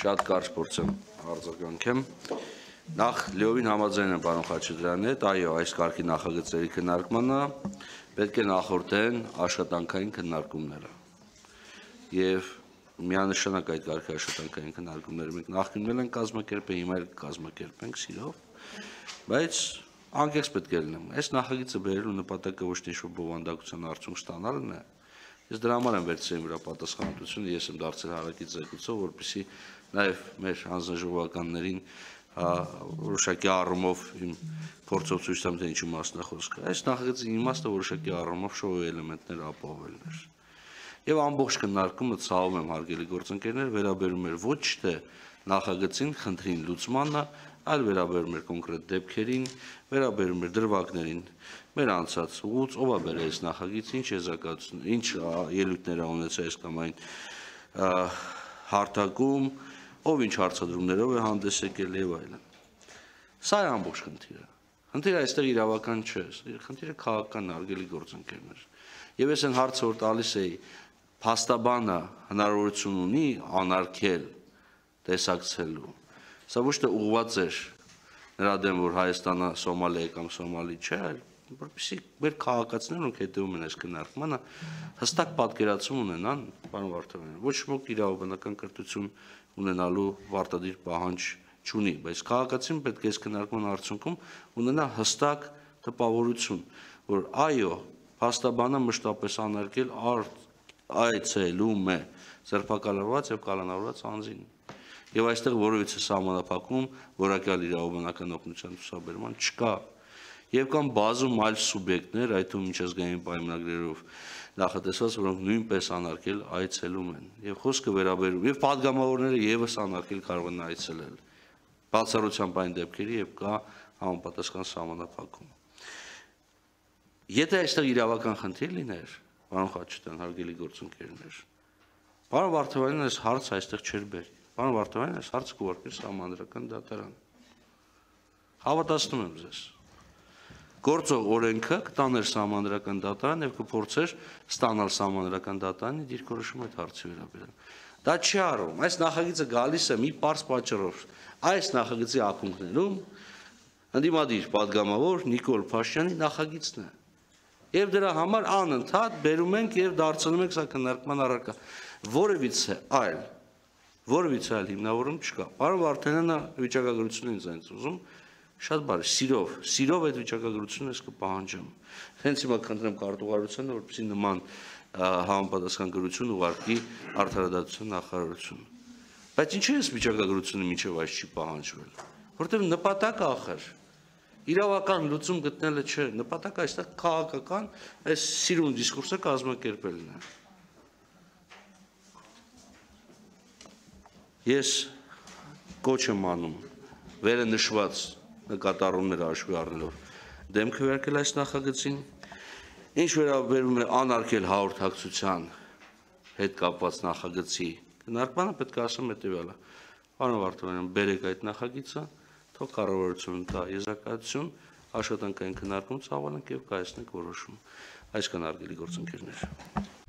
Շատ կարճ փորձեմ արձագանքեմ։ Նախ լիովին համաձայն եմ պարոն Խաչատրյանի հետ, այո, այս կարգի նախագծերի քննարկմանը պետք է նախորդեն աշխատանքային քննարկումները։ Եվ միանշանակ այդ կարգի աշխատանքային քննարկումները մենք նախկինում ենք կազմակերպել, հիմա էլ կազմակերպենք սիրով, բայց անկեղծ պետք է լինեմ։ Այս նախագիծը բերելու նպատակը ոչ թե ինչ-որ բովանդակության արդյունք ստանալն է։ Ես դրա համար եմ վերցրել իմ վրա պատասխանատվությունը, ես եմ դարձել հարակից զեկուցող, որպեսզի նաև մեր հանձնաժողովականներին որոշակի առումով իմ փորձով ցույց տամ, թե ինչի մասն է խոսքը։ Այս նախագծի իմաստը որոշակի առումով շոուի էլեմենտներ ապահովելն էր։ Եվ ամբողջ քննարկումը ցավում եմ հարգելի գործընկերներ, վերաբերում էր ոչ թե նախագծին, խնդրին լուծմանը, այլ վերաբերում էր կոնկրետ դեպքերին, վերաբերում էր դրվագներին, մեր անցած ուղուց, ով է բերել այս նախագիծը, ինչ եզրակացություն, ինչ ելույթներ է ունեցել այս կամ այն հարթակում, ով ինչ հարցադրումներով է հանդես եկել եւ այլն։ Սա է ամբողջ խնդիրը։ Խնդիրը այստեղ իրավական չէ, խնդիրը քաղաքական արգելի գործընկերներ։ Եվ ես այն հարցը որ տալիս էի, փաստաբանը հնարավորություն ունի անարգել տեսակցելու։ Սա ոչ թե ուղղված էր նրա դեմ, որ Հայաստանը Սոմալիա է կամ Սոմալի չէ, այլ որպեսզի մեր քաղաքացիներն ոնք հետևում են այս քննարկմանը, հստակ պատկերացում ունենան, պարոն Վարդանյան, ոչ ոք իրավաբանական կրթություն ունենալու պարտադիր պահանջ չունի, բայց քաղաքացին պետք է այս քննարկման արդյունքում ունենա հստակ տպավորություն, որ այո, փաստաբանը մշտապես անարգել այցելում է ձերբակալված եւ կալանավորված անձին։ Եվ այստեղ որևիցե սահմանափակում որակյալ իրավաբանական օգնության ցուցաբերման չկա։ Եվ կան բազում այլ սուբյեկտներ, այդ թվում միջազգային պայմանագրերով նախատեսված, որոնք նույնպես անարգել այցելում են։ Եվ խոսքը վերաբերում եւ падգամավորները եւս անարգել կարող են այցելել։ Բացառությամբ այն դեպքերի, երբ կա համապատասխան սահմանափակում։ Եթե այստեղ իրավական խնդիր լիներ, պարոն Խաչատրյան, հարգելի գործընկերներ, պարոն Վարդանյանն այս հարցը այստեղ չէր բերի։ Պարոն Վարդանյանն այս հարցը կուղարկեր սահմանադրական դատարան։ Հավատացնում եմ ձեզ։ Գործող օրենքը կտաներ սահմանադրական դատարան եւ կփորձեր ստանալ սահմանադրական դատարանի դիրքորոշում այդ հարցի վերաբերյալ։ Դա չի արվում։ Այս նախագիծը գալիս է մի պարզ պատճառով։ Այս նախագծի ակունքներում ընդդիմադիր падգամավոր Նիկոլ Փաշինյանի նախագիծն է։ Եվ դրա համար անընդհատ բերում ենք եւ դարձնում ենք սա քննարկման առարկա։ Որևիցե այլ հիմնավորում չկա։ Պարոն Վարդանյանը վիճակագրությունն ինձ այնց ուզում շատ բարի, սիրով այդ վիճակագրությունը ես կպահանջեմ։ Հենց հիմա խնդրեմ կարտուղարությանը, որպեսզի նման համապատասխան գրություն ուղարկի Արդարադատության նախարարություն։ Բայց ինչու է վիճակագրությունը մինչև այս չի պահանջվել։ Որտեղ նպատակը ախր իրավական լուծում գտնելը չէ, նպատակը այստեղ քաղաքական այս սիրուն դիսկուրսը կազմակերպելն է։ Ես կոչ եմ անում վերը նշված նկատառումները հաշվի առնելով դեմք քվեարկել այս նախագծին, ինչ վերաբերում է անարգել հաղորդակցության հետ կապված նախագծի քննարկմանը, պետք է ասեմ հետևյալը։ Պարոն Վարդանյան, բերեք այդ նախագիծը, թող կառավարությունը տա եզրակացություն, աշխատանքային քննարկում ծավալենք եւ կայացնենք որոշում։ Այսքան հարգելի գործընկերներ։